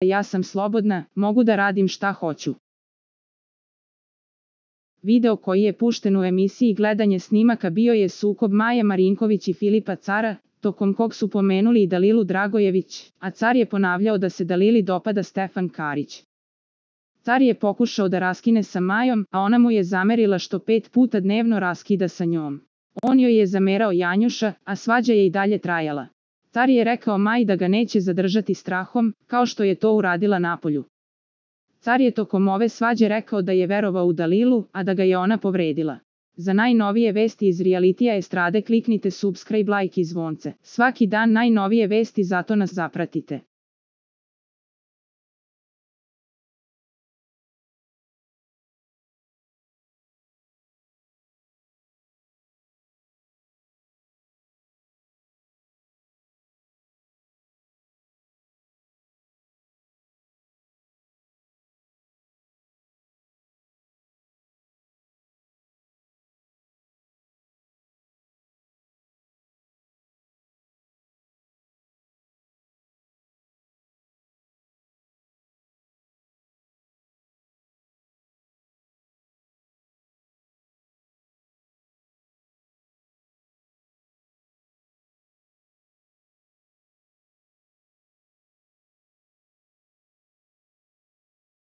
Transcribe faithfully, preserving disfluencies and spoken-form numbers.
Ja sam slobodna, mogu da radim šta hoću. Video koji je pušten u emisiji Gledanje snimaka bio je sukob Maje Marinković i Filipa Cara, tokom kog su pomenuli i Dalilu Dragojević, a Car je ponavljao da se Dalili dopada Stefan Karić. Car je pokušao da raskine sa Majom, a ona mu je zamerila što pet puta dnevno raskida sa njom. On joj je zamerao Janjuša, a svađa je i dalje trajala. Car je rekao Maji da ga neće zadržati strahom, kao što je to uradila napolju. Car je tokom ove svađe rekao da je verovao u Dalilu, a da ga je ona povredila. Za najnovije vesti iz realitija estrade kliknite subscribe, like i zvonce. Svaki dan najnovije vesti, zato nas zapratite.